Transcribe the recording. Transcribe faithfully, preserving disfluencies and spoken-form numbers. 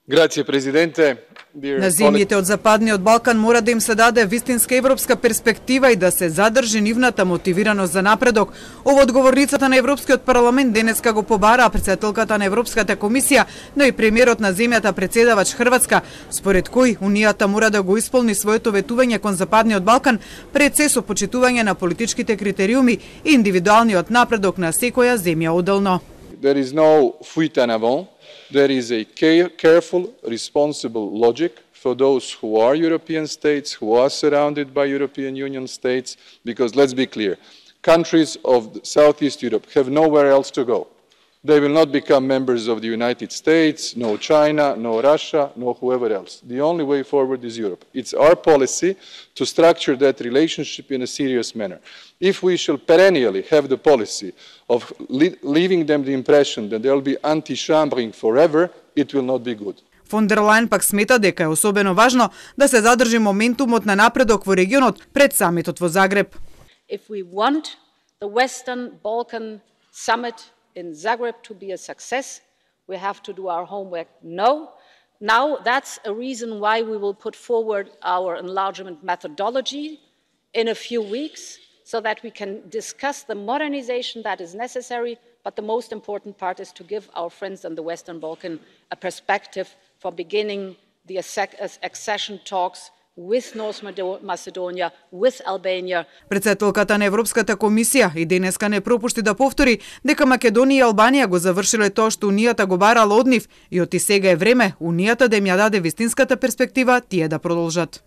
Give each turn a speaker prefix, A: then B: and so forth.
A: Грација, президенте.
B: На земјите од Западниот Балкан мора да им се даде вистинска европска перспектива и да се задржи нивната мотивираност за напредок. Ово одговорницата на Европскиот парламент денеска го побараа претседателката на Европската комисија, но и премиерот на земјата претседавач Хрватска, според кој Унијата мора да го исполни своето ветување кон Западниот Балкан пред се со почитување на политичките критериуми и индивидуалниот напредок на секоја земја одделно.
A: There is no fuite en avant. There is a careful, responsible logic for those who are European states, who are surrounded by European Union states, because let's be clear, countries of Southeast Europe have nowhere else to go. They will not become members of the United States, no China, no Russia, no whoever else. The only way forward is Europe. It's our policy to structure that relationship in a serious manner. If we shall perennially have the policy of leaving them the impression that they'll be anti-chambering forever, it will not be good.
B: Фон дер Лајен пак смета дека е особено важно да се задржи моментумот на напредок во регионот пред самитот во Загреб.
C: If we want the Western Balkan summit in Zagreb to be a success, we have to do our homework now. Now that's a reason why we will put forward our enlargement methodology in a few weeks, so that we can discuss the modernization that is necessary, but the most important part is to give our friends in the Western Balkan a perspective for beginning the accession talks with North Macedonia, with Albania.
B: Претседателката на Европската комисија и денеска не пропушти да повтори дека Македонија и Албанија го завршиле тоа што Унијата го барала од нив и оти сега е време Унијата да им ја даде вистинската перспектива тие да продолжат.